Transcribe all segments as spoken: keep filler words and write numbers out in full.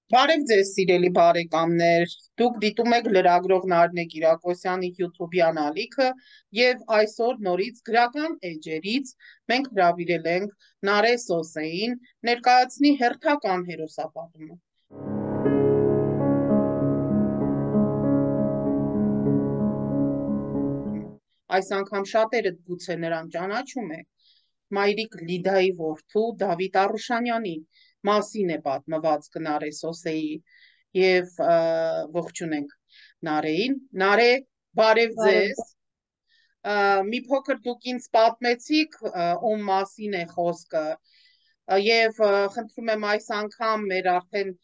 Բարև ձեզ սիրելի բարեկամներ, դուք դիտում եք լրագրող Նարինե Կիրակոսյանի յութուբյան ալիքը եւ այսօր նորից գրական էջերից մենք հրավիրել ենք Նարե Սոսեին ներկայացնի հերթական հերոսապատումը։ Այս անգամ շատերը գուցե նրան ճանաչում եք, մայրիկ Լիդայի որդու Դավիթ Արուշանյանի մասին է պատմված Նարե Սոսեի եւ ողջունենք Նարեին։ Նարե, բարև Բարև ձեզ։ Մի փոքր դուք ինձ պատմեցիք ում մասին է խոսքը եւ խնդրում եմ այս անգամ մեր արդեն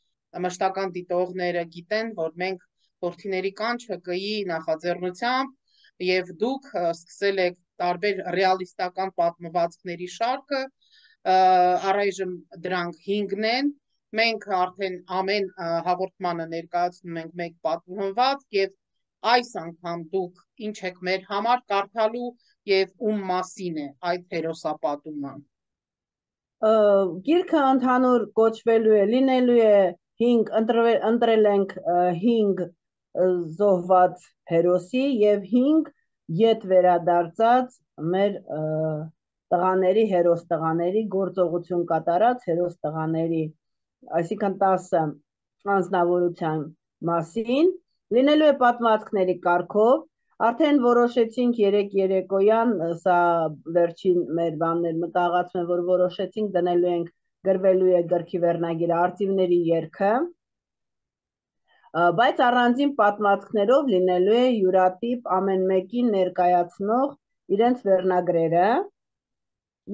մշտական դիտողները գիտեն, որ մենք Որդիների կանչը ԿԻ նախաձեռնությամբ եւ դուք սկսել եք տարբեր ռեալիստական պատմվածքների շարքը, առայժմ դրանք հինգն են, մենք արդեն ամեն հաղորդմանը ներկայացնում ենք մեկ պատմվածք եւ այս անգամ դուք ինչ եք մեր համար կարդալու եւ ում մասին է այդ հերոսապատումը։ Գիրքը ընդհանուր կոչվելու է, լինելու է հինգ, ընտրել ենք հինգ զոհված հերոսի եւ հինգ ետ վերադարձած մեր տղաների, հերոս տղաների, գործողություն կատարած հերոս տղաների, այսինքն տասը անձնավորության մասին, լինելու է պատմվածքների կարգով, արդեն որոշեցինք երեք երեկոյան, սա վերջին մեր բաններ մտաղացում է, որ որոշեցինք դնելու ենք, գրվելու է գրքի վերնագիրը արծիվների երգը, բայց առանձին պատմվածքներով լինելու է յուրատիպ ամեն մեկին ներկայացնող իրենց վերնագրերը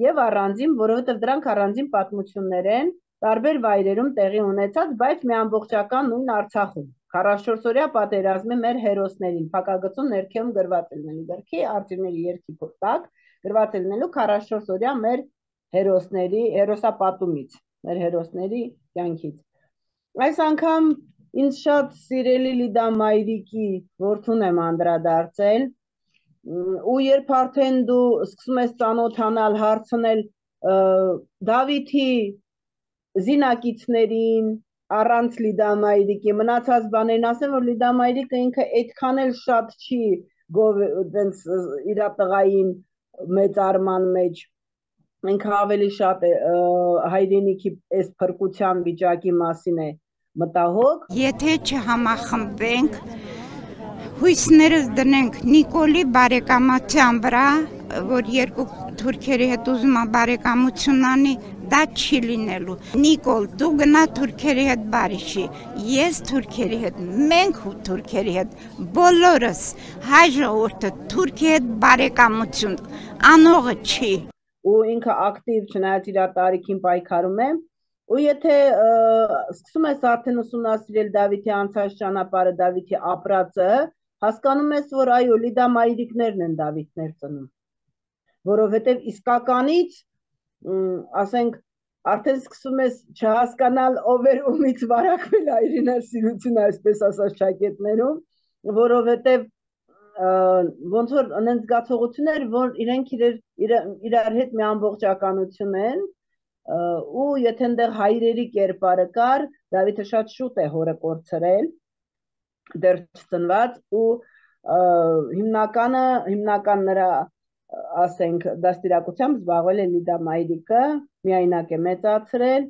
եւ առանձին, որովհետեւ դրանք առանձին պատմություններ են, տարբեր վայրերում տեղի ունեցած, բայց մի ամբողջական նույն Արցախում։ քառասունչորսօրյա պատերազմի մեր հերոսներին փակագծում ներքևում գրված է լինելու գրքի արծիվների երգի տակ գրված է լինելու քառասունչորսօրյա մեր հերոսների հերոսապատումից, մեր հերոսների կյանքից։ Այս անգամ ինձ շատ սիրելի Լիդա Մայրիկի որդուն եմ անդրադարձել ու երբ արդեն դու սկսում ես ծանոթանալ, հարցնել Դավիթի զինակիցներին, առանց Լիդա Մայրիկի, մնացած բաներն ասեմ, որ Լիդա Մայրիկը ինքը այդքան էլ շատ չի իր տղային մեծարման մեջ, ինքը ավելի շատ հայրենիքի այս փրկության վիճակի մասին է մտահոգ։ Եթե չհամախմբենք, հույսներս դնենք Նիկոլի բարեկամության վրա, որ երկու թուրքերի հետ ուզում է բարեկամություն անի, դա չի լինելու։ Նիկոլ, դու գնա թուրքերի հետ բարիշի, ես թուրքերի հետ, մենք թուրքերի հետ, բոլորս հայ ժողովուրդը թուրքի հետ բարեկամություն անողը չի։ Ու ինքը ակտիվ չնայած իր տարիքին պայքարում է, ու եթե սկսում ես արդեն ուսումնասիրել Դավիթի անցած ճանապարհը, Դավիթի ապրածը, հասկանում ես, որ այո, Լիդա Մայրիկներն են Դավիթներ ծնում, որովհետև իսկականից, ասենք, արդեն սկսում ես չհասկանալ ով էր ումից վարակվել հայրենասիրությունը, այսպես ասած ճակետներում, որովհետև ոնց որ անենց զգացողություններ, որ իրենք իրար հետ մի ամբողջականություն են, ու եթե այնտեղ հայրերի կերպարը կար, Դավիթը շատ շուտ է հորը կորցրել, դեռ չծնված, ու հիմնականը, հիմնական նրա, ասենք, դաստիարակությամբ զբաղվել է Լիդա Մայրիկը, միայնակ է մեծացրել,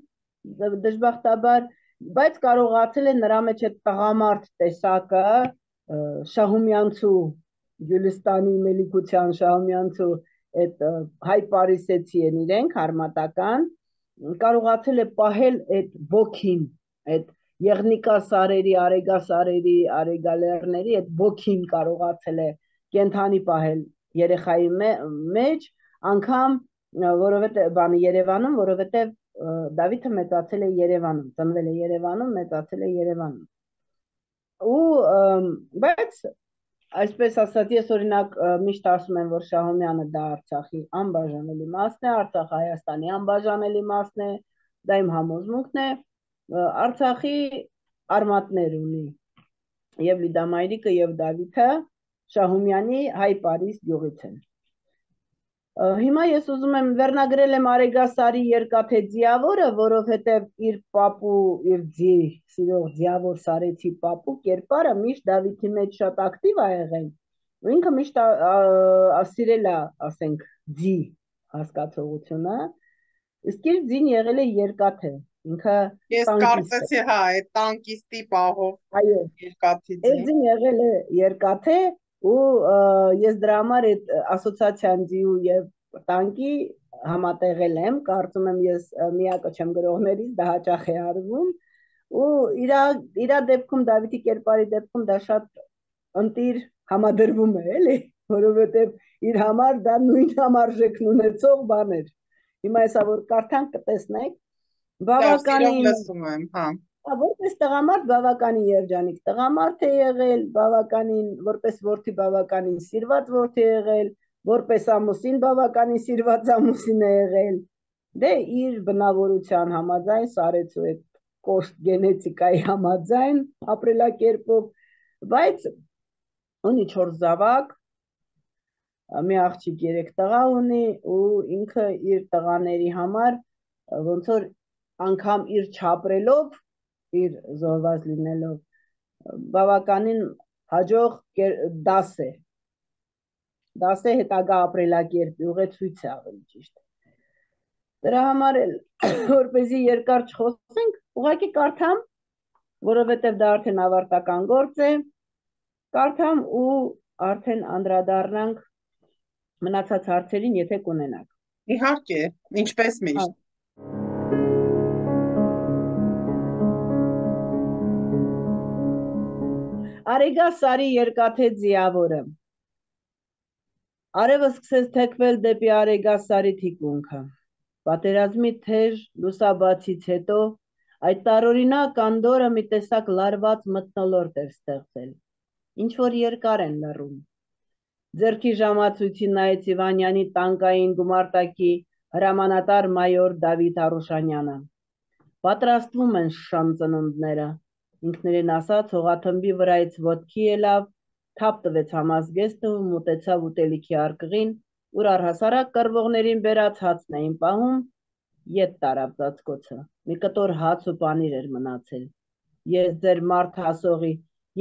դժբախտաբար, բայց կարողացել է նրա մեջ այդ տղամարդ տեսակը, Շահումյանցու, Գյուլիստանի Մելիքության Շահումյանցու այդ հայ պարիսեցի են իրենք, հարմատական, կարողացել է պահել այդ ոգին, այդ Եղնիկա սարերի, Արեգա սարերի, Արեգալերների այդ ոգին կարողացել է կենթանի պահել երեխայի մեջ, անգամ որովհետև բանը Երևանում, որովհետև Դավիթը մեծացել է Երևանում, ծնվել է Երևանում, մեծացել է Երևանում։ Ու բայց այսպես ասած, ես օրինակ միշտ ասում եմ, որ Շահումյանը դա Արցախի անբաժանելի մասն է, Արցախը Հայաստանի անբաժանելի մասն է, դա իմ համոզմունքն է, Արցախի արմատներ ունի եւ Լիդա Մայրիկը եւ Դավիթը Շահումյանի հայ Պարիս գյուղից են։ Հիմա ես ուզում եմ վերնագրել եմ Արեգասարի երկաթե ձիավորը, որովհետև իր պապու, իր ձի, սիրող ձիավոր Սարեցի պապու կերպարը միշտ Դավիթի մեջ շատ ակտիվ ա եղել, ու ինքը միշտ սիրել ա, ասենք, ձի հասկացողությունը, իսկ իր ձին եղել է երկաթե, ինքը Ես կարծեցի, հա, այդ տանկիստի պահով երկաթի ձին։ Այդ ձին եղել է երկաթե, ու ես դրա համար այդ ասոցիացիան ձիու եւ տանկի համատեղել եմ, կարծում եմ ես միակը չեմ գրողներից, դա հաճախ է արվում, ու իրա իրա դեպքում Դավիթի կերպարի դեպքում դա շատ ընտիր համադրվում է, էլի, որովհետեւ իր համար դա նույն համարժեքն ունեցող բան էր։ Հիմա հեսա որ կարդանք կտեսնեք, բավականին լսում եմ, հա։ Որպես տղամարդ բավականին երջանիկ տղամարդ է եղել, բավականին, որպես որդի բավականին սիրված որդի է եղել, որպես ամուսին բավականին սիրված ամուսին է եղել, դե իր բնավորության համաձայն, Սարեցու այդ կոշտ գենետիկայի համաձայն ապրելակերպով, բայց ունի չորս զավակ, մի աղջիկ երեք տղա ունի, ու ինքը իր տղաների համար ոնց որ անգամ իր չապրելով իր զորված լինելով բավականին հաջող դաս է դաս է հետագա ապրելակերպի ուղեցույց է ավելի ճիշտ դրա համար էլ որպեսզի երկար չխոսենք ուղղակի կարդամ որովհետև դա արդեն ավարտական գործ է կարդամ ու արդեն անդրադառնանք մնացած հարցերին եթե կունենաք իհարկե ինչպես միշտ Արեգասարի երկաթե ձիավորը Արևը սկսեց թեքվել դեպի Արեգասարի թիկունքը։ Պատերազմի թեժ լուսաբացից հետո այդ տարօրինակ անդորը մի տեսակ լարված մթնոլորտ էր ստեղծել։ Ինչ որ երկար են լռում։ Ձեռքի ժամացույցին նայեց Իվանյանի տանկային գումարտակի հրամանատար մայոր Դավիթ Արուշանյանը։ Պատրաստվում են շան ծնունդները։ Ինքներին ասաց հողաթմբի վրայից ոտքի ելավ, թափ տվեց համազգեստը ու մոտեցավ ուտելիքի արկղին, ուր առհասարակ կռվողներին բերած հացն էին պահում, ետ տարավ ծածկոցը, մի կտոր հաց ու պանիր էր մնացել։ Ես ձեր մարդ հասողի,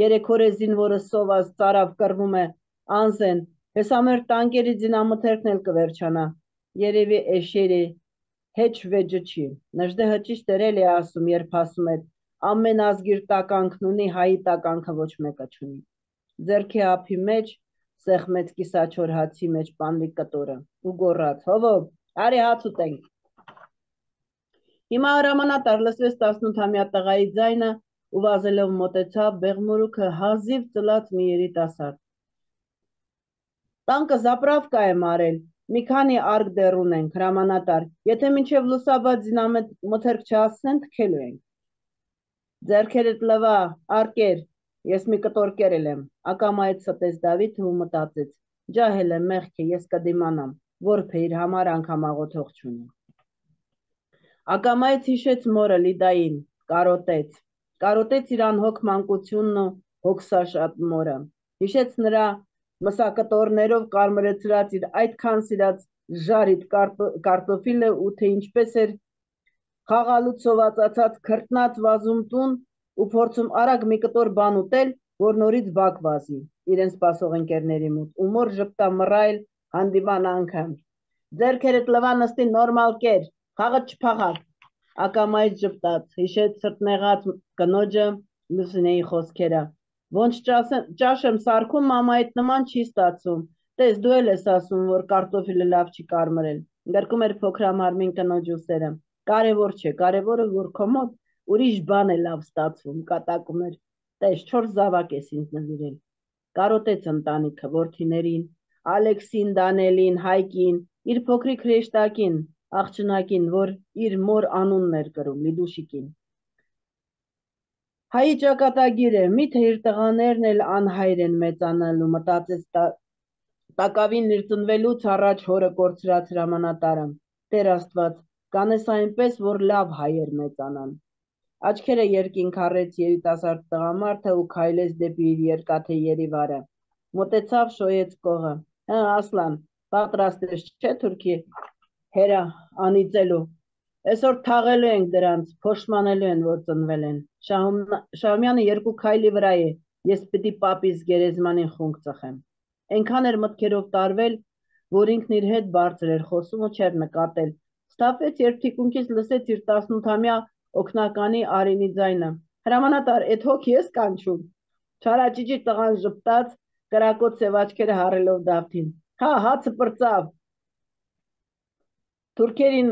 երեք օր է զինվորը սոված ծարավ կռվում է, անզեն, հեսա մեր տանկերի զինամթերքն էլ կվերջանա, երևի էշերի, հեչ վեջը չի, նժդե հճիշտ էր էլ է ասում, երբ ասում էր, ամեն ազգիր տականքն ունի, հայի տականքը ոչ մեկը չունի։ Ձերքի ափի մեջ, սեղմեց կիսաչոր հացի մեջ պանլիկ կտորը, ու գոռաց, հովով, արի հաց ուտենք։ Հիմա հրամանատար լսվեց տասնութամյա տղայի ձայնը ու վազելով մոտեցավ բեղմորուքը հազիվ ծլած մի երիտասարդ։ Տանկը զապրավկա է մարել, մի քանի արկ դեռ ունենք, հրամանատար, եթե մինչև լուսաբաց զինամթերք չհասնեն, թքելու ենք։ Ձեռքերդ լվա, արկեր, ես մի կտոր կերել եմ, ակամայից ստեց Դավիթը ու մտածեց, ջահել եմ մեղք է, ես կդիմանամ, որբը իր համար անգամ աղոթող չունի։ Ակամայից հիշեց մորը Լիդային, կարոտեց, կարոտեց իր անհոգ մանկությունն ու հոգսաշատ մորը, հիշեց նրա մսակտորներով կարմրեցրած իր այդքան սիրած ժարիտ կարտոֆիլը ու թե ինչպես էր խաղալուց սովածացած քրտնած վազում տուն ու փորձում արագ մի կտոր բան ուտել, որ նորից բակ վազի, իրեն սպասող ընկերների մոտ, ու մոր ժպտա մռայլ հանդիման անգամ։ Ձերքերդ լվա նստի նորմալ կեր, խաղը չփախակ, ակամայից ժպտաց, հիշեց սրտնեղած կնոջը Լուսինեի խոսքերը, ոնց ճաշ եմ սարքում, մամայիդ նման չի ստացում, տես դու էլ ես ասում, որ կարտոֆիլը լավ չի կարմրել, գրկում էր փոքրամարմին կնոջ ուսերը, կարևոր չէ, կարևորը որ քո մոտ ուրիշ բան է լավ ստացվում, կատակում էր, տես չորս զավակ ես ինձ նվիրել, կարոտեց ընտանիքը, որդիներին, Ալեքսին, Դանելին, Հայկին, իր փոքրիկ հրեշտակին, աղջնակին, որ իր մոր անունն էր կրում, Լիդուշիկին։ Հայի ճակատագիր է, միթե իր տղաներն էլ անհայր են մեծանալու, մտածեց տակավին իր ծնվելուց առաջ հորը կորցրած հրամանատարը, Տեր Աստված, կանես այնպես, որ լավ հայեր մեծանան։ Աչքերը երկինք առեց երիտասարդ տղամարդը ու քայլեց դեպի իր երկաթե երիվարը։ Մոտեցավ շոյեց կողը։ Հա, Ասլան, պատրաստ ես չէ Թուրքի հերա անիծելու։ Այսօր թաղելու ենք դրանց, փոշմանելու են, որ ծնվել են։ Շահումյանը երկու քայլի վրա է, ես պիտի պապիս գերեզմանին խունկ ծխեմ։ Այնքան էր մտքերով տարվել, որ ինքն իր հետ բարձր էր խոսում ու չէր նկատել։ Ստապեց, երբ թիկունքից լսեց իր տասնութամյա օգնականի Արինի ձայնը։ Հրամանատար, էդ հոգի ես կանչում։ Չարաճիճի տղան ժպտաց, կրակոտ սև աչքերը հառելով Դավթին։ Հա, հացը պրծավ։ Թուրքերին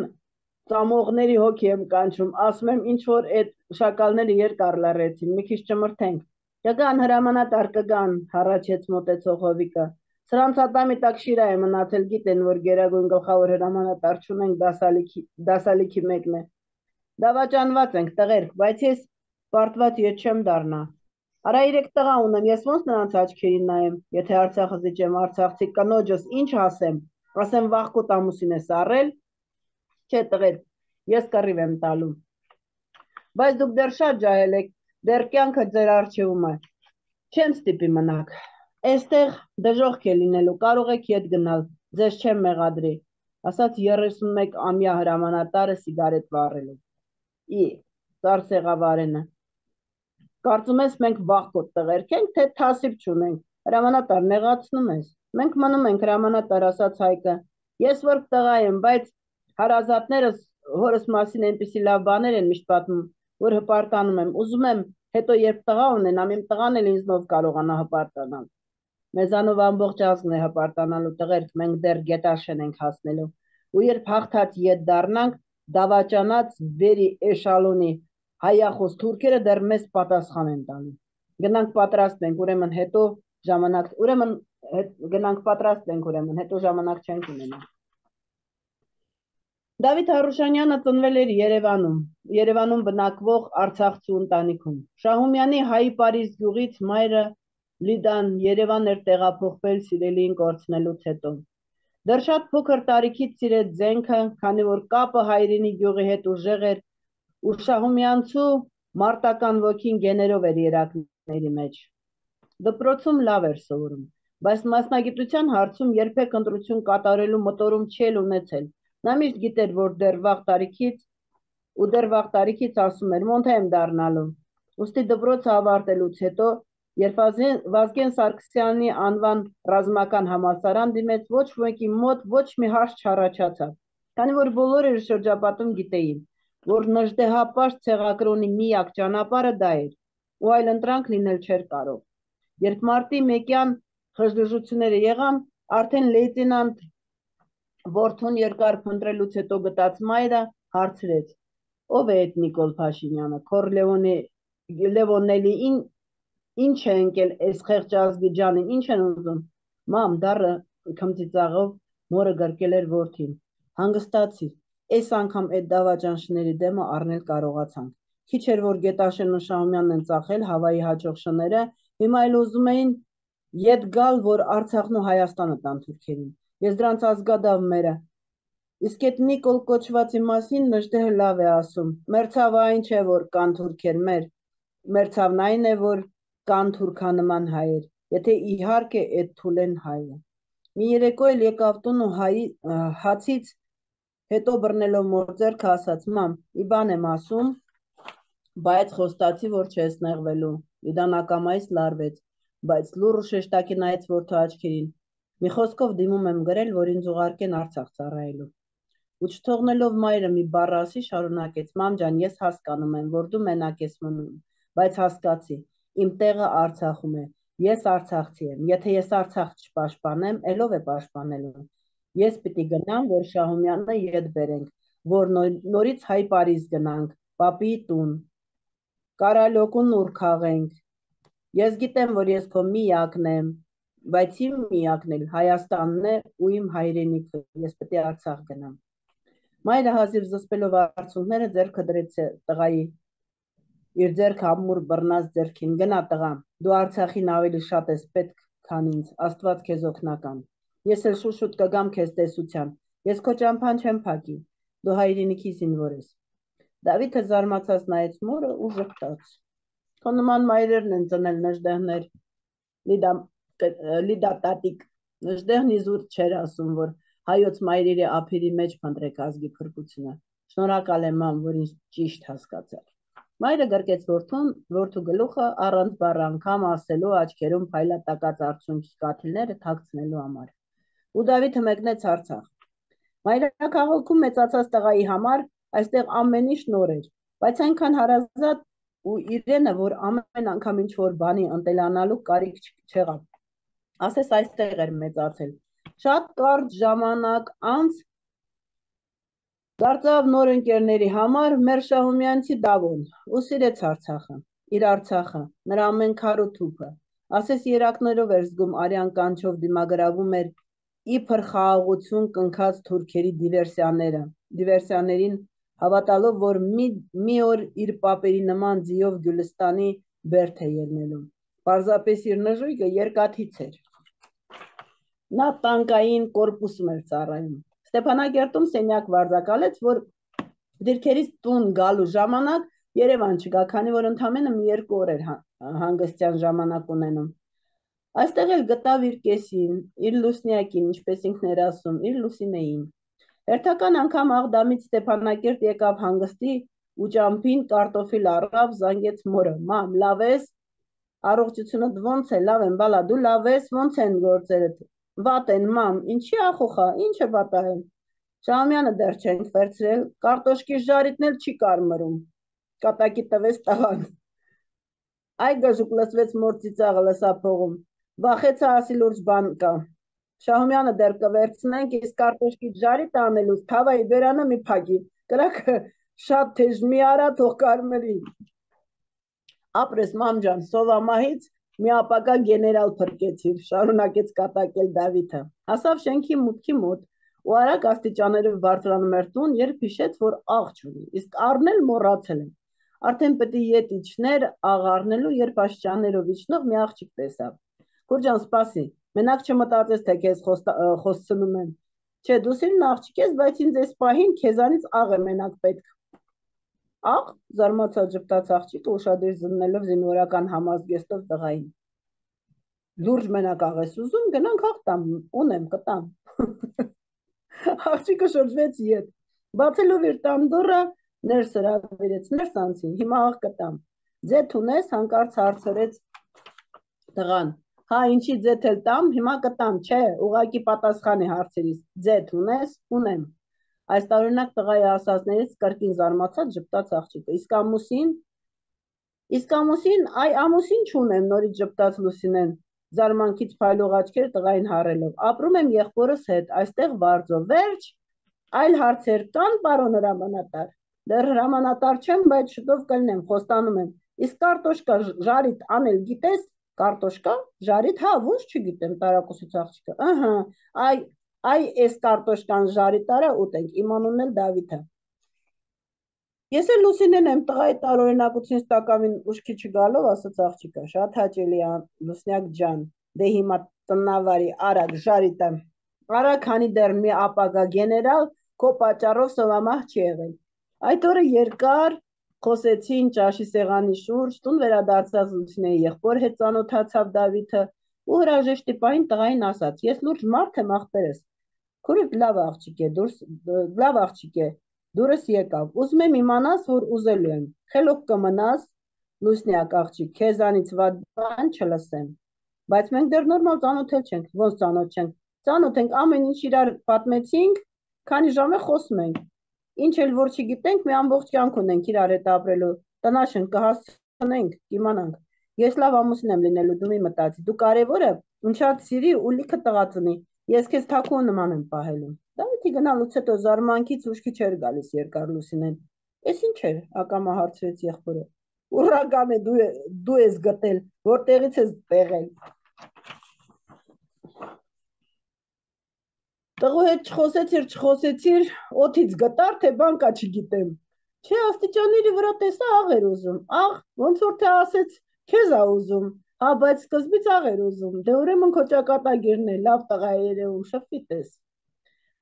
ծամողների հոգի եմ կանչում, ասում եմ ինչ որ այդ շակալները երկար լռեցին, մի քիչ ճմրթենք։ Կգան հրամանատար կգան, հառաչեց մոտեցող Հովիկը։ Սրանց ատամի տակ շիրա է մնացել, գիտեն, որ գերագույն գլխավոր հրամանատար չունենք, դասալիքի, դասալիքի մեկն է։ Դավաճանված ենք տղերք, բայց ես պարտված ետ չեմ դառնա։ Արա երեք տղա ունեմ, ես ոնց նրանց աչքերին նայեմ, եթե Արցախը զիջեմ, արցախցի կնոջս ինչ ասեմ, ասեմ վաղկոտ ամուսին ես առել, չէ տղեր, ես կռիվ եմ տալու։ Բայց դուք դեռ շատ ջահել եք, դեռ կյանքը ձեր առջևում է, չեմ ստիպի մնաք, այստեղ դժոխք է լինելու, կարող եք ետ գնալ, ձեզ չեմ մեղադրի, ասաց երեսունմեկ ամյա հրամանատարը սիգարետ վառելով։ Ի, ծարսեղավարենը, կարծում ես մենք վաղկոտ տղերք ենք, թե թասիբ չունենք, հրամանատար նեղացնում ես, մենք մնում ենք հրամանատար, ասաց Հայկը, ես որ տղա եմ, բայց հարազատներս հորս մասին այնպիսի լավ բաներ են միշտ պատմում, որ հպարտանում եմ, ուզում եմ հետո երբ տղա ունենամ, իմ տղան էլ ինձնով կարողանա հպարտանալ։ Մեզանով ամբողջ ազգն է հպարտանալու տղերք, մենք դեռ գետաշեն ենք հասնելու, ու երբ հաղթած ետ դառնանք, դավաճանած վերի էշալոնի հայախոս թուրքերը դեռ մեզ պատասխան են տալու։ Գնանք պատրաստ ենք, ուրեմն հետո ժամանակ, ուրեմն գնանք պատրաստ ենք, ուրեմն հետո ժամանակ չենք ունենա։ Դավիթ Հարուշանյանը ծնվել էր Երևանում, Երևանում բնակվող արցախցու ընտանիքում։ Շահումյանի հայի Պարիզ գյուղից մայրը Լիդան Երևան էր տեղափոխվել սիրելիին կորցնելուց հետո։ Դեռ շատ փոքր տարիքից սիրեց զենքը, քանի որ կապը հայրենի գյուղի հետ ուժեղ էր, ու Շահումյանցու մարտական ոգին գեներով էր երակների մեջ։ Դպրոցում լավ էր սովորում, բայց մասնագիտության հարցում երբեք ընտրություն կատարելու մտորում չի ունեցել։ Նա միշտ գիտեր, որ դեռ վաղ տարիքից ու դեռ վաղ տարիքից ասում էր, մոնթե եմ դառնալու։ Ուստի դպրոցը ավարտելուց հետո, երբ Վազգեն Սարգսյանի անվան ռազմական համալսարան դիմեց, ոչ մեկի մոտ ոչ մի հարց չառաջացավ, քանի որ բոլորը իր շրջապատում գիտեին, որ նժդեհապաշտ ցեղակրոնի միակ ճանապարհը դա էր, ու այլ ընտրանք լինել չէր կարող։ Երբ մարտի մեկյան խժդժությունները եղան, արդեն լեյտենանտ Որդուն երկար փնտրելուց հետո գտած մայրը հարցրեց. ով է այդ Նիկոլ Փաշինյանը, քոր Լևոնելի ինչ է ընկել այս խեղճ ազգի ջանին, ինչ են ուզում։ Մամ, դառը քմծիծաղով մորը գրկել էր որդին։ Հանգստացիր, այս անգամ այդ դավաճանշների դեմը առնել կարողացանք։ Քիչ էր որ Գետաշեն ու Շահումյանն են ծախել Հավայի հաջող շները, հիմա էլ ուզում էին ետ գալ, որ Արցախն ու Հայաստանը տան թուրքերին։ Ես դրանց ազգադավ մերը, իսկ այդ Նիկոլ կոչվածի մասին նժդեհը լավ է ասում, մերցավը այն չէ, որ կան թուրքեր մեր, մերցավն այն է, որ կան թուրքանման հայեր, եթե իհարկե այդ թուլեն հայը։ Մի երեկո էլ եկավ տուն ու հացից հետո բռնելով մոր ձեռքը ասաց, մամ, ի բան եմ ասում, բայց խոստացի, որ չես նեղվելու, Լիդան ակամայից լարվեց, բայց լուռ ու շեշտակի նայեց որդու աչքերին։ Մի խոսքով դիմում եմ գրել, որ ինձ ուղարկեն Արցախ ծառայելու։ Ու չթողնելով մայրը մի բառ ասի, շարունակեց. մամ ջան, ես հասկանում եմ, որ դու մենակ ես մնում, բայց հասկացի, իմ տեղը Արցախում է, ես Արցախցի եմ, եթե ես Արցախ չպաշտպանեմ, ելով է պաշտպանելու։ Ես պիտի գնամ, որ Շահումյանը ետ բերենք, որ նորից Հայ Պարիզ գնանք, պապի տուն, Կարալյոկուն ուր քաղենք։ Ես գիտեմ, որ ես քո միակն եմ, բայց իմ միակն էլ Հայաստանն է ու իմ հայրենիքը, ես պետք է Արցախ գնամ։ Մայրը հազիվ զսպելով արցունքները ձեռքը դրեց տղայի, իր ձեռքը ամուր բռնած ձեռքին, գնա տղա, դու Արցախին ավելի շատ ես պետք, քան ինձ, Աստված քեզ օգնական։ Ես էլ շուշուտ կգամ քեզ տեսության, ես քո ճամփան չեմ փակի, դու հայրենիքի զինվոր ես։ Դավիթը զարմացած նայեց մորը ու ժպտաց։ Քո նման մայրերն են ծնել նժդեհներ, Լիդա Լիդա տատիկ, Նժդեհն իզուր չեր ասում, որ հայոց մայրերի ափերի մեջ փնտրեք ազգի փրկությունը։ Շնորհակալ եմ մամ, որ ինձ ճիշտ հասկացար։ Մայրը գրկեց որդուն, որդու գլուխը առանց բառ անգամ ասելու աչքերում փայլատակած արցունքի կաթիլները թաքցնելու համար։ Ու Դավիթը մեկնեց Արցախ։ Մայրաքաղաքում մեծացած տղայի համար այստեղ ամեն ինչ նոր էր, բայց այնքան հարազատ ու իրենը, որ ամեն անգամ ինչ որ բանի ընտելանալու կարիք չեղավ։ Ասես այստեղ էր մեծացել։ Շատ կարճ ժամանակ անց դարձավ նոր ընկերների համար մեր Շահումյանցի Դավոն ու սիրեց Արցախը, իր Արցախը, նրա ամեն քար ու թուփը։ Ասես երակներով էր զգում արյան կանչով դիմագրավում էր իբր խաղաղություն կնքած թուրքերի դիվերսիաները, դիվերսիաներին հավատալով, որ մի, մի օր իր պապերի նման ձիով Գյուլստանի բերդ է ելնելու։ Պարզապես իր նժույգը երկաթից էր։ Նա տանկային կորպուսում էր ծառայում։ Ստեփանակերտում սենյակ վարձակալեց, որ դիրքերից տուն գալու ժամանակ Երևան չգա, քանի որ ընդամենը մի երկու օր էր հանգստյան ժամանակ ունենում։ Այստեղ էլ գտավ իր կեսին, իր լուսնյակին, ինչպես ինքն էր ասում, իր Լուսինեին։ Հերթական անգամ Աղդամից Ստեփանակերտ եկավ հանգստի ու ճամփին կարտոֆիլ առավ, զանգեց մորը. «Մամ, լավ ես, առողջությունդ ոնց է, լավ եմ, բալա, դու լավ ես, ոնց են գործերդ»։ Վատ են, մամ, ինչի ախոխա, ինչ է պատահել։ Շահումյանը դեռ չենք վերցրել, կարտոշկի ժարիտն էլ չի կարմրում։ Կատակի տվեց տղան։ Այ գժուկ լսվեց մոր ծիծաղը լսափողում։ Վախեցա ասի լուրջ բան կա։ Շահումյանը դեռ կվերցնենք, իսկ կարտոշկի ժարիտը անելուց թավայի բերանը մի փակի։ Կրակը շատ թեժ մի արա թող կարմրի։ Ապրես մամ ջան, սովամահից մի ապակա գեներալ փրկեցիր, շարունակեց կատակել Դավիթը։ Հասավ շենքի մուտքի մոտ ու արագ աստիճաններով բարձրանում էր տուն, երբ հիշեց, որ աղ չունի, իսկ առնել մոռացել է։ Արդեն պետք է ետ իջներ աղ առնելու, երբ աստիճաններով իջնող մի աղջիկ տեսավ։ Քուրջան, սպասի, մենակ չմտածես, թե քեզ խոսցնում եմ։ Չէ, դու սիրուն աղջիկ ես, բայց ինձ այս պահին քեզանից աղ է մենակ պետք։ Աղ, զարմացած ժպտաց աղջիկը ուշադիր զննելով զինվորական համազգեստով տղային։ Լուրջ մենակ աղ ես ուզում, գնանք աղ տամ, ունեմ, կտամ։ Աղջիկը շրջվեց ետ, բացելով իր տան դուռը, ներս հրավիրեց, ներս անցին, հիմա աղ կտամ։ Ձեթ ունես, հանկարծ հարցրեց տղան։ Հա, ինչի ձեթ էլ տամ, հիմա կտամ, չէ, ուղղակի պատասխան է հարցերից։ Ձեթ ունես, ունեմ։ Այս տարօրինակ տղայի ասածներից կրկին զարմացած ժպտաց աղջիկը։ Իսկ ամուսին, իսկ ամուսին, այ ամուսին չունեմ, նորից ժպտաց Լուսինեն, զարմանքից փայլող աչքերը տղային հառելով։ Ապրում եմ եղբորս հետ, այստեղ վարձով, վերջ, այլ հարցեր կան, պարոն հրամանատար։ Դեռ հրամանատար չեմ, բայց շուտով կլինեմ, խոստանում եմ։ Իսկ կարտոշկա ժարիտ անել գիտես, կարտոշկա ժարիտ, հա, ոնց չգիտեմ, տարակուսից աղջիկը։ Ահա, այ Այ էս կարտոշկան ժարիտ արա ուտենք, իմ անունն էլ Դավիթ է։ Ես էլ Լուսինեն եմ, տղայի տարօրինակությունից տակավին ուշքի չգալով, ասաց աղջիկը, շատ հաճելի է, Լուսնյակ ջան, դե հիմա տնավարի արագ ժարիտը, արագ, քանի դեռ մի ապագա գեներալ քո պատճառով սովամահ չի եղել։ Այդ օրը երկար խոսեցին ճաշի սեղանի շուրջ, տուն վերադարձած Լուսինեի եղբոր հետ ծանոթացավ Դավիթը ու հրաժեշտի պահին տղային ասաց. Ես լուրջ մարդ եմ, ախպերս։ Քուրդ լավ աղջիկ է, դուրս լավ աղջիկ է, դուրս եկավ։ Ուզում եմ իմանաս, որ ուզելու եմ։ Խելոք կմնաս, Լուսնյակ աղջիկ, քեզանից վատ բան չլսեմ։ Բայց մենք դեռ նորմալ ծանոթել չենք, ոնց ծանոթ չենք։ Ծանոթ ենք, ամեն ինչ իրար պատմեցինք, քանի ժամ է խոսում ենք։ Ինչ էլ որ չգիտենք, մի ամբողջ կյանք ունենք իրար հետ ապրելու։ Տնաշեն կհասցնենք, կիմանանք։ Ես լավ ամուսին եմ լինելու, դու մի մտածի։ Դու կարևորը ունչած սիրի ու լիքը տղա ծնի։ Ես քեզ թաքուն նման եմ պահելու։ Դավիթի գնալուց հետո զարմանքից ուշքի չէր գալիս երկար Լուսինեն։ Էս ինչ էր, ակամա հարցրեց եղբորը։ Ուրական է, դու դու ես գտել, որտեղից ես տեղել։ Տղու հետ չխոսեցիր, չխոսեցիր, օթից գտար, թե բան կա չգիտեմ։ Չէ, աստիճանների վրա տեսա աղ էր ուզում։ Աղ, ոնց որ թե ասեց, քեզ ա ուզում։ Հա, բայց սկզբից աղ էր ուզում, դե ուրեմն քո ճակատագիրն է, լավ տղա է երևում, շփվի տես։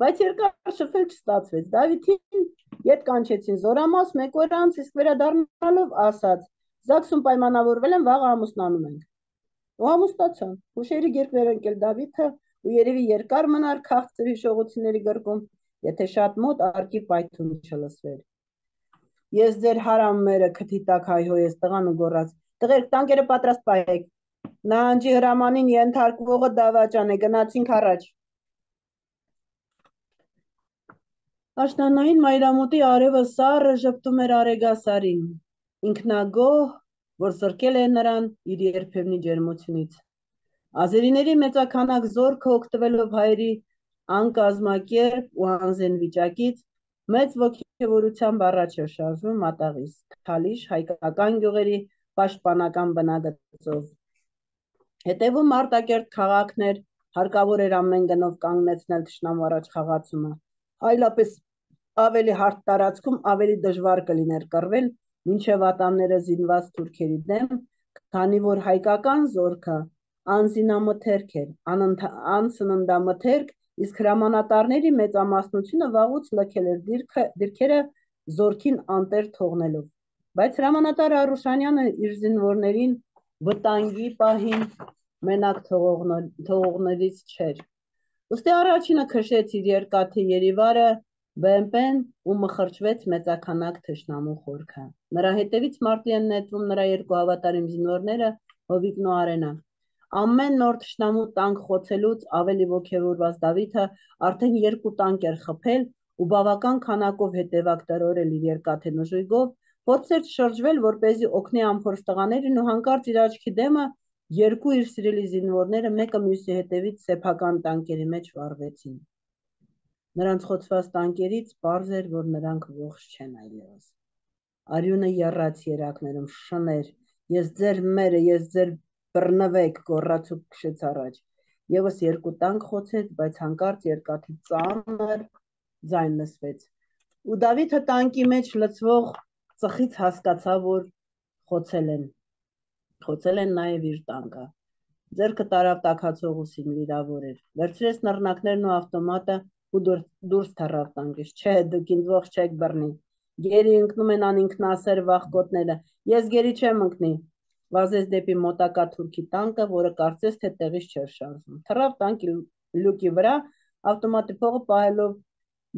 Բայց երկար շփվել չստացվեց, Դավիթին ետ կանչեցին զորամաս, մեկ օր անց, իսկ վերադառնալով ասաց. Զաքսում պայմանավորվել եմ, վաղը ամուսնանում ենք։ Ու ամուսնացան, հուշերի գիրկներ ընկել Դավիթը, ու երևի երկար մնար քաղցր հիշողությունների գրկում, եթե շատ մոտ արկի պայթուն չլսվեր։ Ես ձեր հարամերը քթի տակ հայհոյեց տղան ու գոռաց. «Տղերք, տանկերը պատրաստ պահեք, նահանջի հրամանին ենթարկվողը դավաճան է, գնացինք առաջ»։ Աշնանային մայրամուտի արևը սառը ժպտում էր արեգասարին, ինքնագոհ, որ զրկել է նրան իր երբևնի ջերմությունից։ Ազերիների մեծաքանակ զորքը օգտվելով հայերի անկազմակերպ ու անզեն վիճակից, մեծ ոգևորությամբ առաջ էր շարժվում մատաղից, Քալիշ հայկական գյուղերի պաշտպանական բնագծով։ Հետևում արտակերտ քաղաքներ, հարկավոր էր ամեն գնով կանգնեցնել թշնամու առաջ խաղացումը, այլապես ավելի հարթ տարածքում ավելի դժվար կլիներ կռվել մինչև ատամները զինված թուրքերի դեմ, քանի որ հայկական զորքը անզինամթերք էր, անսննդամթերք, իսկ հրամանատարների մեծամասնությունը վաղուց լքել էր դիրքերը զորքին անտեր թողնելով։ Բայց հրամանատար Արուշանյանը իր զինվորներին վտանգի պահին մենակ թողողներից չէր։ Ուստի առաջինը քշեց իր երկաթի երիվարը բեմպեն ու մխրճվեց մեծաքանակ թշնամու խորքը։ Նրա հետևից մարտի են նետվում նրա երկու հավատարիմ զինվորները Հովիկն ու Արենը։ Ամեն նոր թշնամու տանկ խոցելուց ավելի ոգևորված Դավիթը արդեն երկու տանկ էր խփել ու բավական քանակով հետևակ տրորել իր երկաթե նժույգով, փորձեր շրջվել, որպեսզի օգնի անփորձ տղաներին, ու հանկարծ իր աչքի դեմը երկու իր սիրելի զինվորները մեկը մյուսի հետևից սեփական տանկերի մեջ վառվեցին։ Նրանց խոցված տանկերից պարզ էր, որ նրանք ողջ չեն այլևս։ Արյունը եռաց երակներում, շներ, ես ձեր մերը, ես ձեր բռնվեք, գոռաց ու քշեց առաջ։ Եվս երկու տանկ խոցեց, բայց հանկարծ երկաթի ծանր ձայն լսվեց։ Ու Դավիթը տանկի մեջ լցվող ծխից հասկացավ, որ խոցել են։ Խոցել են նաև իր տանկը։ Ձեռքը տարավ տաքացող ուսին, վիրավոր էր։ Վերցրեց նռնակներն ու ավտոմատը ու դուրս թռավ տանկից։ Չէ, դուք ինձ ողջ չեք բռնի։ Գերի ընկնում են անինքնասեր վախկոտները։ Ես գերի չեմ ընկնի։ Վազեց դեպի մոտակա թուրքի տանկը, որը կարծես թե տեղից չէր շարժվում։ Թռավ տանկի լուկի վրա, ավտոմատի փողը պահելով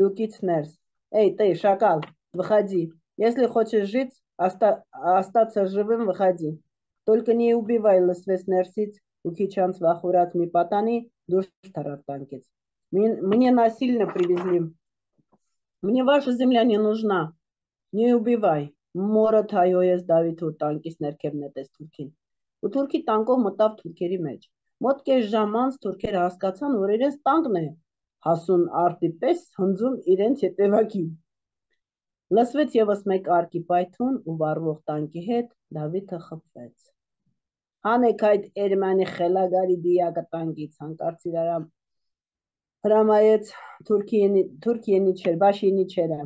լուկից ներս։ Էй, ты, шакал, выходи. Если хочешь жить, остаться живым, выходи. Только не убивай, լսվեց ներսից ու քիչ անց վախուրած մի պատանի դուրս թռավ տանկից։ Мне насильно привезли. Мне ваша земля не нужна. Не убивай. Մորդ հայհոյեց Դավիթը ու տանկից ներքև նետեց թուրքին։ Ու թուրքի տանկով մտավ թուրքերի մեջ։ Մոտ կես ժամ անց թուրքերը հասկացան, որ իրենց տանկն է հասուն արտի պես հնձում իրենց հետևակին։ Լսվեց եւս մեկ արկի պայթուն ու վառվող տանկի հետ Դավիթը խփվեց։ Հանեք այդ Էրմանի խելագարի դիակը տանկից, հանկարծ իրար հրամայեց Թուրքի Ենիչեր, Բաշ Ենիչերը։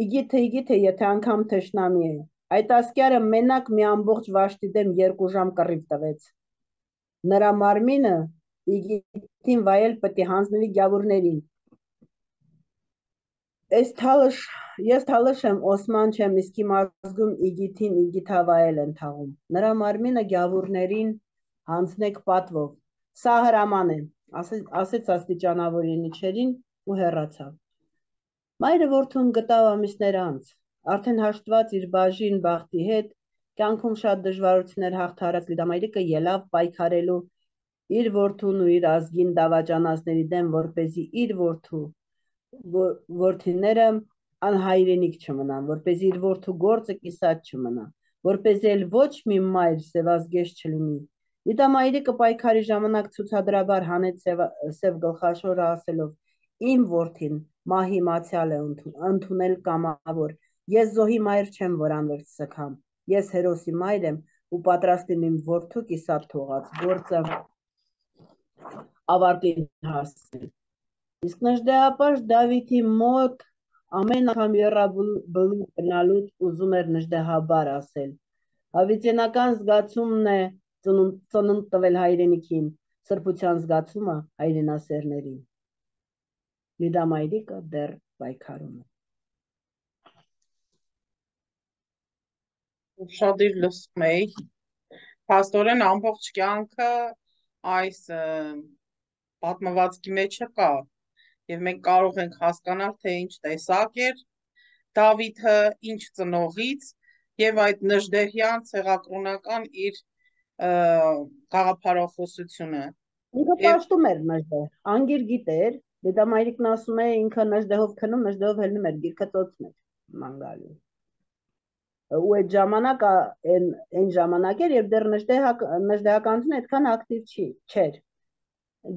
Իգիթե, իգիթե, եթե անգամ թշնամի է։ Այդ ասկյարը մենակ մի ամբողջ վաշտի դեմ երկու ժամ կռիվ տվեց։ Նրա մարմինը իգիթին վայել պետք է հանձնվի գյավուրներին։ Ես թալыш եմ, Օսման չեմ, իսկ իմ ազգում իգիթին իգիթավայել են թաղում։ Նրա մարմինը գյավուրներին հանձնեք պատվով։ Սա հրաման է, ասեց աստիճանավոր Ենիչերին ու հեռացավ։ Մայրը որդուն գտավ ամիսներ անց, արդեն հաշտված իր բաժին բախտի հետ, կյանքում շատ դժվարություններ հաղթահարած Լիդամայրիկը ելավ պայքարելու իր որդուն ու իր ազգին դավաճանածների դեմ, որպեսզի իր որդու որդիները անհայրենիք չմնան, որպեսզի իր որդու գործը կիսատ չմնա, որպեսզի էլ ոչ մի մայր սևազգեստ չլինի։ Լիդամայրիկը պայքարի ժամանակ ցուցադրաբար հանեց սև գլխաշորը ասելով. Իմ որդին մահի մացյալ է ընդունել կամավոր, ես զոհի մայր չեմ, որ անվերջ սգամ, ես հերոսի մայր եմ ու պատրաստ եմ իմ որդու կիսատ թողած գործը ավարտին հասցնել։ Իսկ նժդեհապաշտ Դավիթի մոտ ամեն անգամ եռաբլուր գնալուց ուզում էր նժդեհաբար ասել. Հավիտենական զգացումն է ծնունդ տվել հայրենիքին, սրբության զգացումը հայրենասերներին։ Լիդամայրիկը դեռ պայքարում է։ Ուշադիր լսում էի։ Փաստորեն ամբողջ կյանքը այս պատմվածքի մեջը կա եւ մենք կարող ենք հասկանալ թե ինչ տեսակ էր Դավիթը, ինչ ծնողից եւ այդ Նժդեհյան ցեղակրոնական իր գաղափարախոսությունը։ Ինքը պաշտում էր Նժդեհ, անգիր գիտեր, դետամայրիկն ասում է ինքը Նժդեհով քնում, Նժդեհով հելնում էր, գիրքը ծոցում էր մանգալի։ Ու այդ ժամանակ այն ժամանակ էր, երբ դեռ նժդեհականությունը այդքան ակտիվ չի, չէր։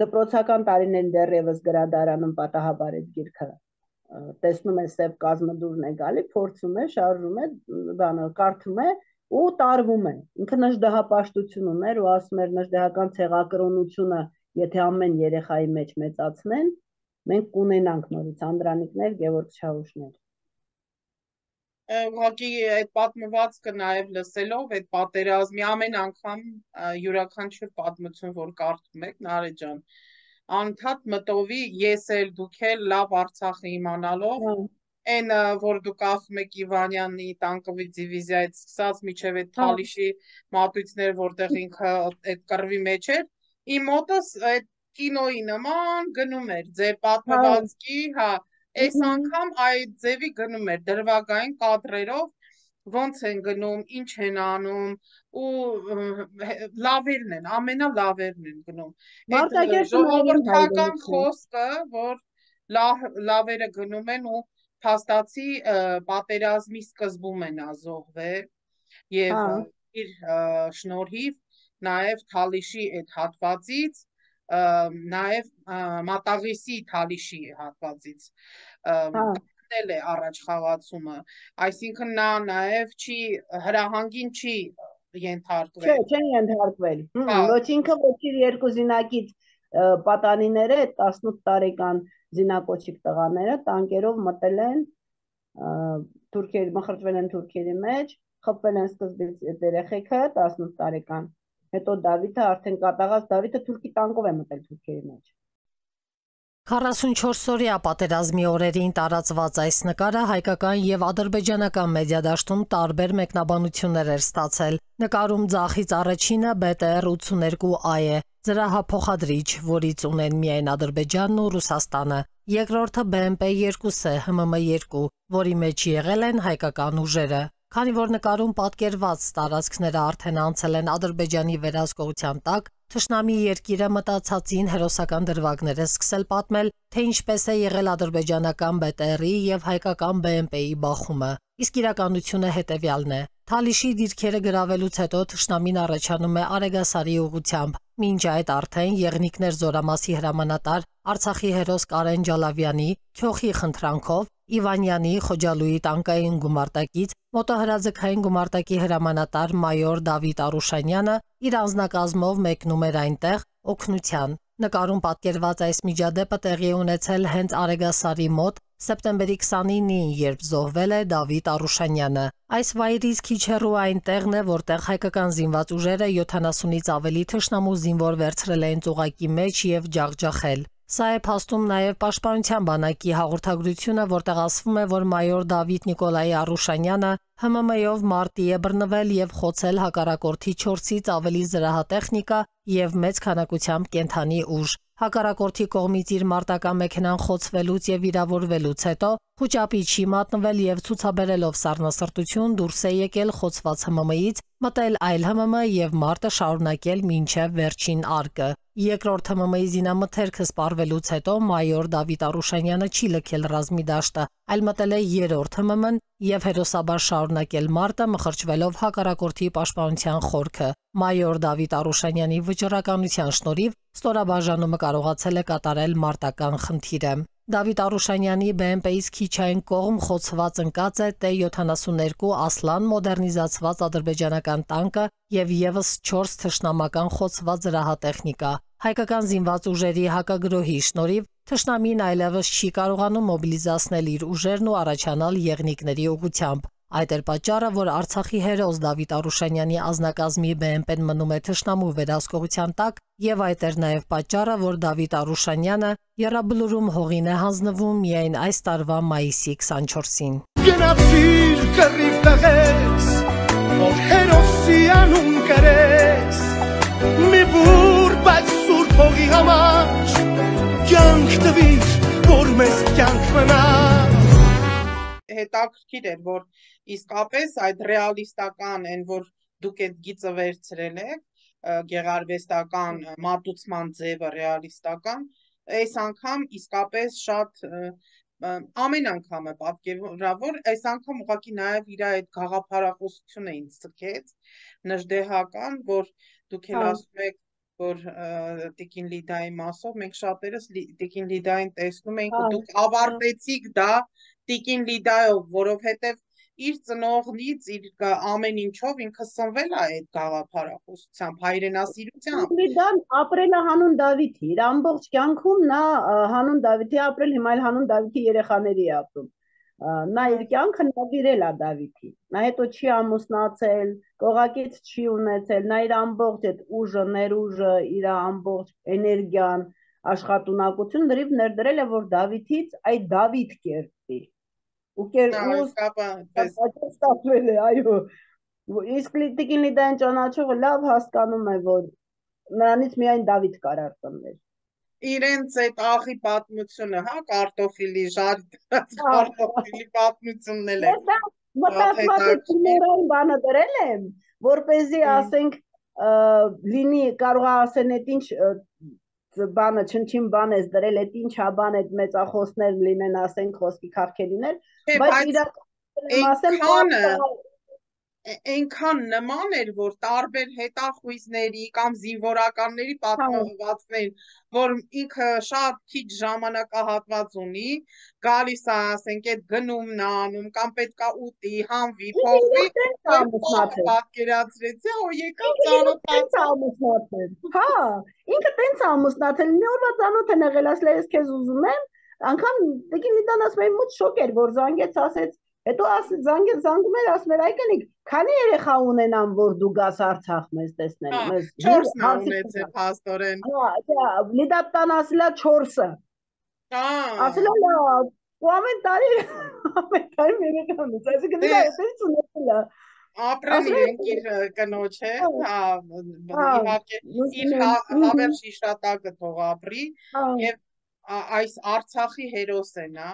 Դպրոցական տարիներին դեռևս գրադարանում պատահաբար այդ գիրքը տեսնում է սև կազմդուրն է գալի, փորձում է, շարժում է, բանը կարդում է ու տարվում է։ Ինքը նժդեհապաշտություն ուներ ու ասում էր նժդեհական ցեղակրոնությունը, եթե ամեն երեխայի մեջ մեծացնեն, մենք կունենանք նորից Անդրանիկներ, Գևորգ Չավուշներ։ Ուղղակի այդ պատմվածքը նաև լսելով այդ պատերազմի ամեն անգամ յուրաքանչյուր պատմություն, որ կարդում եք, Նարեկ ջան, անդադ մտովի ես էլ դուք էլ լավ Արցախը իմանալով, այն որ դուք ասում եք Իվանյանի տանկովի դիվիզիայից սկսած միջև այդ Թալիշի մատույցներ, որտեղ ինքը այդ կռվի մեջ էր, իմ մոտս այդ կինոյի նման գնում էր ձեր պատմվածքի, հա, այս անգամ այդ ձևի գնում էր դրվագային կադրերով, ոնց են գնում, ինչ են անում ու լավերն են, ամենալավերն են գնում։ Այդ ժողովրդական խոսքը, որ լավերը գնում են ու փաստացի պատերազմի սկզբում են ազոհվել եւ իր շնորհիվ նաեւ Թալիշի այդ հատվածից նաև Մատաղիսի Թալիշի հատվածից գնել է առաջ խաղացումը, այսինքն նա նաև չի հրահանգին չի ենթարկվել։ Չէ, չեն ենթարկվել։ Ոչ ինքը, ոչ իր երկու զինակից պատանիները, այդ տասնութ տարեկան զինակոչիկ տղաները տանկերով մտել են թուրքերի, մխրճվել են թուրքերի մեջ, խփվել են սկզբից երեխեքը տասնութ տարեկան։ Հետո Դավիթը արդեն կատաղած Դավիթը թուրքի տանկով է մտել թուրքերի մեջ։ քառասունչորս-օրյա պատերազմի օրերին տարածված այս նկարը հայկական եւ ադրբեջանական մեդիադաշտում տարբեր մեկնաբանություններ էր ստացել։ Նկարում ձախից առաջինը B T R ութսուներկու A է, զրահափոխադրիչ, որից ունեն միայն Ադրբեջանն ու Ռուսաստանը։ Երկրորդը B M P two է, H M M two, որի մեջ եղել են հայկական ուժերը։ Քանի որ նկարում պատկերված տարածքները արդեն անցել են Ադրբեջանի վերահսկողության տակ, թշնամի երկիրը մտածածին հերոսական դրվագներ է սկսել պատմել, թե ինչպես է եղել ադրբեջանական B T R-ի եւ հայկական B M P-ի բախումը։ Իսկ իրականությունը հետևյալն է. Թալիշի դիրքերը գրավելուց հետո թշնամին առաջանում է Արեգասարի ուղղությամբ։ Մինչ այդ արդեն Եղնիկներ զորամասի հրամանատար Արցախի հերոս Կարեն Ջալավյանի քյոխի խնդրանքով Իվանյանի Խոջալուի տանկային գումարտակից մոտոհրաձգային գումարտակի հրամանատար մայոր Դավիթ Արուշանյանը իր անձնակազմով մեկնում էր այնտեղ օգնության։ Նկարում պատկերված այս միջադեպը տեղի ունեցել հենց Արեգասարի մոտ սեպտեմբերի քսանինին, երբ զոհվել է Դավիթ Արուշանյանը։ Այս վայրից քիչ հեռու այնտեղն է, որտեղ հայկական զինված ուժերը յոթանասունից ավելի թշնամու զինվոր վերցրել էին ծուղակի մեջ եւ ջախջախել։ Սա է փաստում նաև Պաշտպանության բանակի հաղորդագրությունը, որտեղ ասվում է, որ մայոր Դավիթ Նիկոլայի Արուշանյանը H M M-ով մարտի է բռնվել եւ խոցել հակառակորդի չորսից ավելի զրահատեխնիկա եւ մեծ քանակությամբ կենթանի ուժ։ Հակառակորդի կողմից իր մարտական մեքենան խոցվելուց եւ վիրավորվելուց հետո խոճապիչի մատնվել եւ ցուցաբերելով սառնասրտություն դուրս է եկել խոցված H M M-ից, մտել այլ H M M եւ մարտը շարունակել մինչեւ վերջին արկը։ Երկրորդ H M M-ի զինամթերքը սպառվելուց հետո մայոր Դավիթ Արուշանյանը չի լքել ռազմի դաշտը, այլ մտել է երրորդ H M M-ն եւ հերոսաբար շարունակել մարտը, մխրճվելով հակառակորդի պաշտպանության խորքը։ Մայոր Դավիթ Արուշանյանի վճռականության շնորհիվ ստորաբաժանումը կարողացել է կատարել մարտական խնդիրը։ Դավիթ Արուշանյանի B M P-ից քիչ այն կողմ խոցված ընկած է T յոթանասուններկու Ասլան մոդեռնիզացված ադրբեջանական տանկը եւ եւս չորս թշնամական խոցված զրահատեխնիկա։ Հայկական զինված ուժերի հակագրոհի շնորհիվ թշնամին այլևս չի կարողանում մոբիլիզացնել իր ուժերն ու առաջանալ Եղնիկների ուղղությամբ։ Այդ էր պատճառը, որ Արցախի հերոս Դավիթ Արուշանյանի ազնագազմի B M P-ն մնում է թշնամու վերահսկողության տակ, եւ այդ էր նաեւ պատճառը, որ Դավիթ Արուշանյանը Եռաբլուրում հողին է հանձնվում միայն այս տարվա մայիսի քսանչորսին։ Գնացիր կռիվ տղես, որ հերոսի անուն կրես, մի բուր բայց սուրբ հողի համար մեզ կյանք մնա Հետաքրքիր էր, որ իսկապես այդ ռեալիստական են, որ դուք այդ գիծը վերցրել եք, գեղարվեստական մատուցման ձևը ռեալիստական, այս անգամ իսկապես շատ ամեն անգամ է պատկերավոր, այս անգամ ուղղակի նաև իր այդ գաղափարախոսությունը ինձ ցկեց, նժդեհական, որ դուք էլ ասում եք, որ Տիկին Լիդայի մասով մենք շատերս Տիկին Լիդային տեսնում ենք ու դուք ավարտեցիք դա Տիկին Լիդայով, որովհետև իր ծնողնից, իր ամեն ինչով ինքը սնվել է այդ գաղափարախոսությամբ, հայրենասիրությամբ։ Լիդան ապրել է հանուն Դավիթի, իր ամբողջ կյանքում նա հանուն Դավիթի ապրել, հիմա էլ հանուն Դավիթի երեխաների է ապրում։ Նա իր կյանքը նվիրել է Դավիթին, նա հետո չի ամուսնացել, կողակից չի ունեցել, նա իր ամբողջ այդ ուժը, ներուժը, իր ամբողջ էներգիան, աշխատունակություն լրիվ ներդրել է, որ Դավիթից այդ Դավիթ կերտի։ Ու կերտել է, այո, իսկ Տիկին Լիդային ճանաչողը լավ հասկանում է, որ նրանից միայն Դավիթ կարող ծնվել։ Իրենց այդ աղի պատմությունը, հա, կարտոֆիլի, ժարի կարտոֆիլի պատմությունն էլ է։ Մտածված եմ բանը դրել եմ, որպեսզի ասենք լինի կարող է ասեն այդ ինչ բանը չնչին բան ես դրել, այդ ինչ հա բան այդ մեծախոսներ լինեն, ասենք խոսքի քարքերիներ, բայց իրականում այնքան նման էր, որ տարբեր հետախույզների կամ զինվորականների պատմվածքներին, որ ինքը շատ քիչ ժամանակահատված ունի, գալիս է, ասենք, այդ գնումն անում, կամ պետքա ուտի, հանվի, փոխվի, պատկերացրեցի, ու եկավ ծանոթացել։ Հա, ինքը տենց ամուսնացել, մի օրվա ծանոթ են եղել, ասել ես քեզ ուզում եմ, անգամ Տիկին Լիդան ասում է մոտ շոկ էր, որ զանգեց, ասեց Հետո զանգեց զանգում էր, ասում էր այկնիկ, քանի երեխա ունենամ, որ դու գաս Արցախ մեզ տեսնելու, մեզ չորսն է ունեցել փաստորեն։ Լիդա տան ասել է չորսը։ Ասել է լավ, ու ամեն տարի ամեն տարի երեխա ունեց, այսինքն դա էսից ունեցել է։ Ապրել ենք իր կնոջ հետ, իհարկե իր հավերժ իշտատակը թող ապրի, եւ այս Արցախի հերոսն է։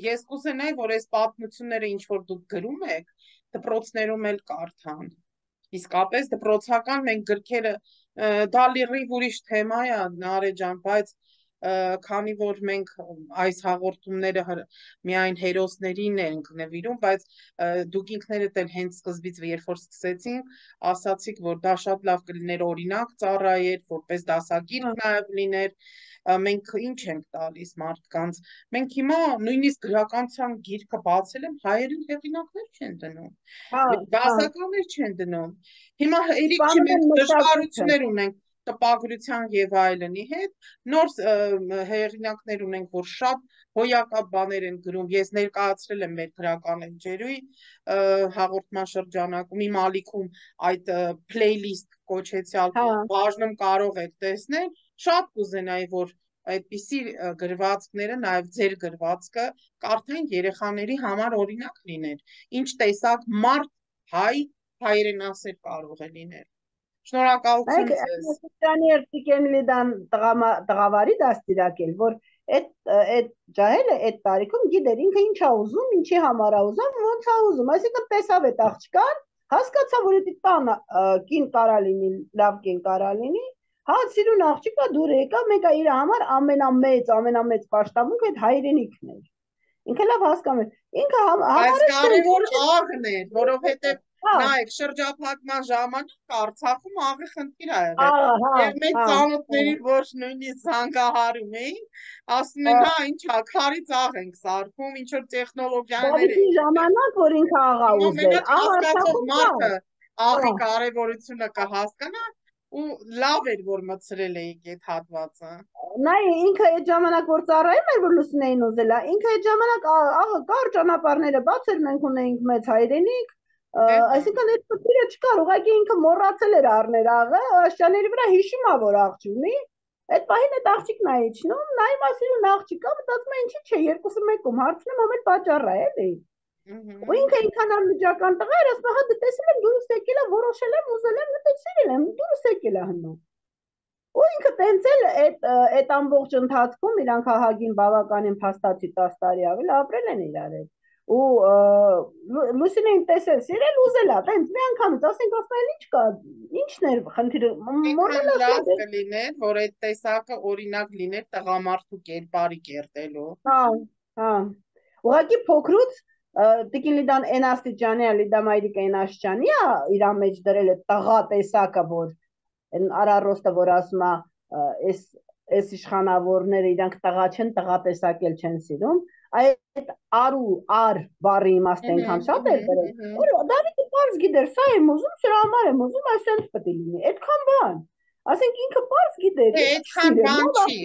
Ես կուզենայի, որ այս պատմությունները ինչ որ դուք գրում եք, դպրոցներում էլ կարդան։ Իսկապես դպրոցական մենք գրքերը դա լրիվ ուրիշ թեմա է, Նարեկ ջան, բայց քանի որ մենք այս հաղորդումները միայն հերոսներին ենք նվիրում, բայց դուք ինքներդ էլ հենց սկզբից երբ որ սկսեցինք, ասացիք, որ դա շատ լավ կլիներ օրինակ ծառայեր, որպես դասագիրք նաև լիներ, մենք ինչ ենք տալիս մարդկանց, մենք հիմա նույնիսկ գրականության գիրքը բացել եմ, հայերեն հեղինակներ չեն դնում, դասականներ չեն դնում, հիմա երիք չի մենք դժվարություններ ունենք տպագրության եւ այլնի հետ, նոր հեղինակներ ունենք, որ շատ հոյակապ բաներ են գրում, ես ներկայացրել եմ մեր գրական էջերուի հաղորդման շրջանակում, իմ ալիքում այդ playlist կոչեցյալ բաժնում կարող եք տեսնել, շատ կուզենայի, որ այդպիսի գրվածքները, նաև ձեր գրվածքը կարդային երեխաների համար օրինակ լիներ, ինչ տեսակ մարդ հայ հայրենասեր կարող է լինել։ Շնորհակալություն ձեզ։ Այդ Տիկին Լիդան տղավարի դաստիարակել, որ այդ ջահելը այդ տարիքում գիտեր ինքը ինչ է ուզում, ինչի համար է ուզում, ոնց է ուզում, այսինքն տեսավ այդ աղջկան, հասկացավ, որ դա տանը կին կարա լինի, լավ կին կարա լինի, հա սիրուն աղջիկա դուր եկա, մենք իր համար ամենամեծ, ամենամեծ պաշտամունքը այդ հայրենիքն էր։ Ինքը լավ հասկանում էր։ Ինքը Բայց կարևոր աղն էր, որովհետև նայեք շրջափակման ժամանակ Արցախում աղի խնդիր ա եղել։ Եվ մենք ծանոթների ոչ նույնիսկ զանգահարում էինք, ասում են, հա, ինչա, քարից աղ ենք սարքում, ինչ որ տեխնոլոգիաներ են։ Ժամանակ, որ ինքը աղա ուզել, հասկացող մարդը աղի կարևորությունը կհասկանա, ու լավ էր, որ մտցրել էիք այդ հատվածը։ Նայ, ինքը այդ ժամանակ որ ծառայում էր, որ Լուսինեին ուզելա, ինքը այդ ժամանակ աղը կար ճանապարհները բաց էր, մենք ունեինք մեծ հայրենիք, այսինքն այդ խնդիրը չկար, ուղղակի ինքը մոռացել էր առնել աղը, աշճանների վրա հիշում ա, որ աղջ ունի, այդ պահին այդ աղջիկն ա իջնում, նայում ասում աղջիկա, մտածում է ինչի՞ չէ, երկուսը մեկում, հարցնում ամ էլ պատճառ է, էլի։ Ու ինքը ինքան անմիջական տղա էր, ասում հա դե տեսել եմ դուրս եկել է, որոշել եմ, ուզել եմ, դե սիրել եմ, դուրս եկել է հնում։ Ու ինքը տենց էլ այդ այդ ամբողջ ընթացքում իրանք ահագին բավականին փաստացի տասը տարի ավել ապրել են իրար հետ։ Ու Լուսինեն տեսել, սիրել ուզելա, տենց մի անգամից, ասենք ասել ինչ կա, ինչն էր խնդիրը, Այնքան լավ կլիներ, որ այդ տեսակը օրինակ լիներ տղամարդու կերպարի կերտելու։ Հա, հա։ Ուղղակի փոքրուց Տիկին Լիդան այն աստիճանի է, Լիդա Մայրիկը այն աստիճանի է իր մեջ դրել է տղա տեսակը, որ այն արարոստը, որ ասում է, այս այս իշխանավորները իրանք տղա չեն, տղա տեսակել չեն սիրում, այդ արու ար բառի իմաստը այնքան շատ էր դրել, որ Դավիթը պարզ գիտեր, սա եմ ուզում, սրա համար եմ ուզում, այսպես պետք է լինի, այդքան բան։ Ասենք ինքը պարզ գիտեր, այդքան բան չի։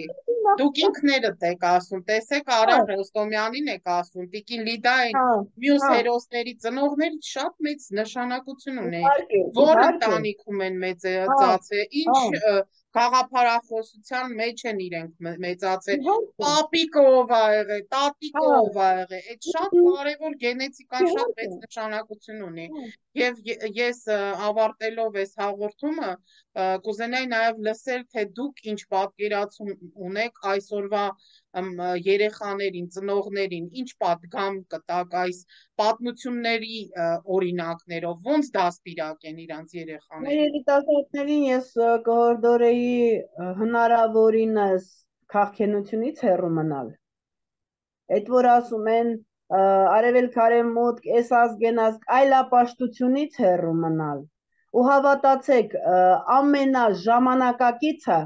Դուք ինքներդ եք ասում, տեսեք Արա Ռոստոմյանին եք ասում, Տիկին Լիդային մյուս հերոսների ծնողներից շատ մեծ նշանակություն ունի, որ ընտանիքում են մեծացել, ինչ գաղափարախոսության մեջ են իրենք մեծացել, պապիկով ա եղել, տատիկով ա եղել, այդ շատ կարևոր գենետիկան շատ մեծ նշանակություն ունի։ Եվ ես ավարտելով այս հաղորդումը կուզենայի նաև լսել, թե դուք ինչ պատկերացում ունեք այսօրվա երեխաներին, ծնողներին, ինչ պատգամ կտակ այս պատմությունների օրինակներով, ոնց դաստիարակ են իրանց երեխաներին։ Մեր երիտասարդներին ես կհորդորեի հնարավորինս քաղաքենությունից հեռու մնալ։ Այդ որ ասում են արևելք արևմուտք, այս ազգեն ազգ, այլապաշտությունից հեռու մնալ։ Ու հավատացեք, ամենաժամանակակիցը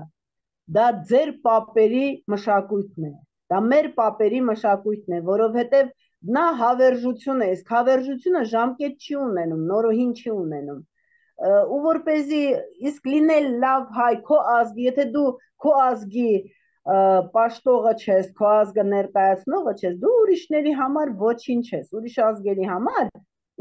դա ձեր պապերի մշակույթն է, դա մեր պապերի մշակույթն է, որովհետև նա հավերժություն է, իսկ հավերժությունը ժամկետ չի ունենում, նորոհին չի ունենում։ Ու որպեսզի իսկ լինել լավ հայ, քո ազգի, եթե դու քո ազգի պաշտողը չես, քո ազգը ներկայացնողը չես, դու ուրիշների համար ոչինչ ես, ուրիշ ազգերի համար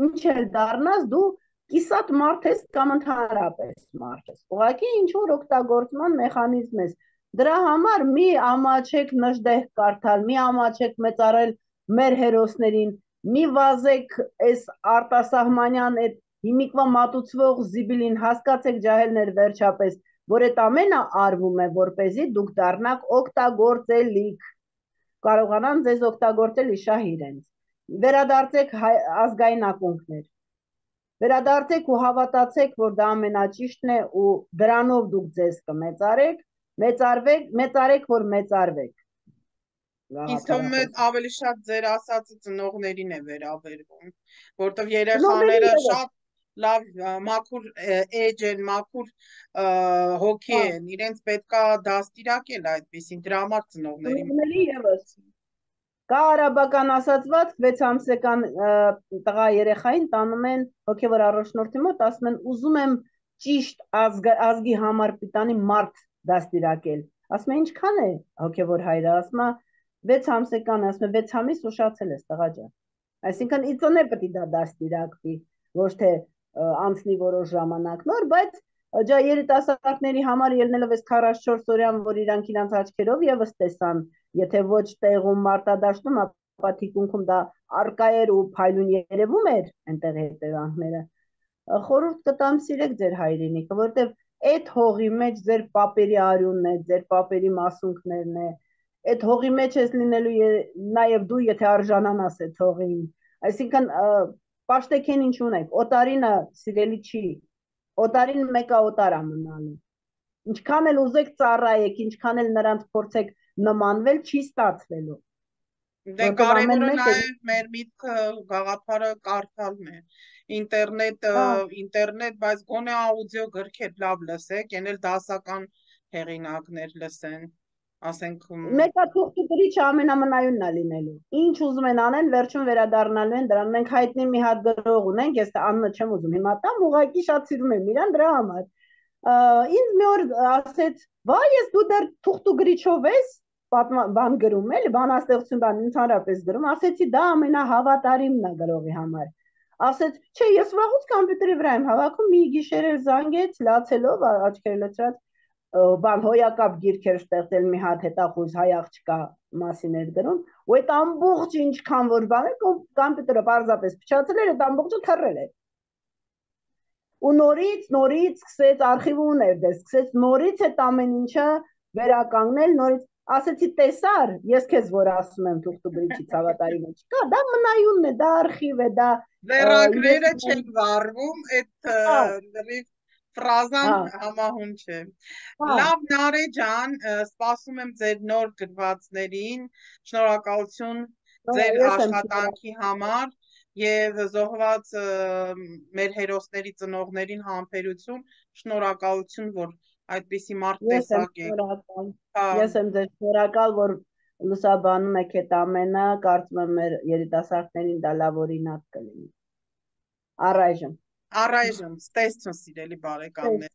ինչ էլ դառնաս, դու կիսատ մարդ ես կամ ընդհանրապես մարդ ես, ուղղակի ինչ-որ օգտագործման մեխանիզմ ես, դրա համար մի ամաչեք նժդեհ կարդալ, մի ամաչեք մեծարել մեր հերոսներին, մի վազեք այս արտասահմանյան այդ հիմիկվա մատուցվող զիբիլին, հասկացեք ջահելներ վերջապես, որ այդ ամենը արվում է, որպեսզի դուք դառնաք օգտագործելիք, կարողանան ձեզ օգտագործել իշահ իրենց, վերադարձեք ազգային ակունքներ, վերադարձեք ու հավատացեք, որ դա ամենաճիշտն է ու դրանով դուք ձեզ կմեծարեք, մեծարվեք, մեծարեք, որ մեծարվեք։ Ինձ թվում է ավելի շատ ձեր ասածը ծնողներին է վերաբերվում, որտեղ երեխաները շատ լավ մաքուր էջ են, մաքուր հոգի են, իրենց պետքա դաստիարակել այդպեսին, դրա համար ծնողների ևս կա արաբական ասացված վեց ամսական տղա երեխային տանում են հոգևոր առաջնորդի մոտ, ասում են ուզում եմ ճիշտ ազգի համար պիտանի մարդ դաստիարակել, ասում է ինչքան է հոգևոր հայրը, ասում է վեց ամսական, ասում է վեց ամիս ուշացել ես տղա ջան, այսինքն իծոնե պետք է դա դաստիարակվի, ոչ թե անցնի որոշ ժամանակ նոր, բայց ջա երիտասարդների համար ելնելով այս քառասունչորս օրյան, որ իրանք իրանց աչքերով եւս տեսան, եթե ոչ տեղում մարտադաշտում, ապա թիկունքում դա արկա էր ու փայլուն երևում էր այնտեղ հետևանքները, խորհուրդ կտամ սիրեք ձեր հայրենիքը, որովհետեւ այդ հողի մեջ ձեր պապերի արյունն է, ձեր պապերի մասունքներն է, այդ հողի մեջ ես լինելու նաեւ դու, եթե արժանանաս այդ հողին, այսինքն պաշտեքեն ինչ ունեք, օտարինը սիրելի չի, օտարին մեկը օտար է մնալու, ինչքան էլ ուզեք ծառայեք, ինչքան էլ նրանց փորձեք նմանվել, չի ստացվելու։ Դե կարևորը նաև մեր միտքը գաղափարը կարդալն է, ինտերնետը, ինտերնետ, բայց գոնե աուդիո գրքեր լավ լսեք, են էլ դասական հեղինակներ լսեն, ասենք մեկը թուղթի գրիչը ամենամնայունն է լինելու, ինչ ուզում են անեն, վերջում վերադառնալու են դրան, մենք հայտնի մի հատ գրող ունենք, ես անունը չեմ ուզում հիմա տամ, ուղղակի շատ սիրում եմ իրան դրա համար, ինձ մի օր ասեց, վայ ես դու դեռ թուղթու գրիչով ես, բան գրում էլ, բանաստեղծություն բան ընդհանրապես գրում, ասեցի դա ամենահավատարիմն է գրողի համար, ասեց, չէ ես վաղուց կամպյուտերի վրա եմ հավաքում, մի գիշեր էլ զանգեց, լացելով, աչքերը լցրած, բան հոյակապ գիրք էր ստեղծել մի հատ հետախույզ հայ աղջկա մասին էր գրում, ու այդ ամբողջ ինչքան որ բան է, կամպյուտերը պարզապես փչացել էր, այդ ամբողջը թռել էր։ ու նորից նորից սկսեց արխիվը ուներ դե սկսեց նորից այդ ամեն ինչը վերականգնել նորից ասեցի տեսար ես քեզ որ ասում եմ թուղթ ու գրիչի ցավատարի մեջ կա դա մնայունն է դա արխիվ է դա վերագրերը չեն վառվում այդ լրիվ ֆրազան համահուն չէ լավ Նարե ջան սպասում եմ ձեր նոր գրվածներին շնորհակալություն ձեր աշխատանքի համար եւ զոհված մեր հերոսների ծնողներին համբերություն շնորհակալություն որ այդպիսի մարդ տեսակ եք ես եմ ձեզ շնորհակալ որ լուսաբանում եք այդ ամենը կարծում եմ մեր երիտասարդներին դա լավ օրինակ կլինի առայժմ առայժմ ստեսություն սիրելի բարեկամներ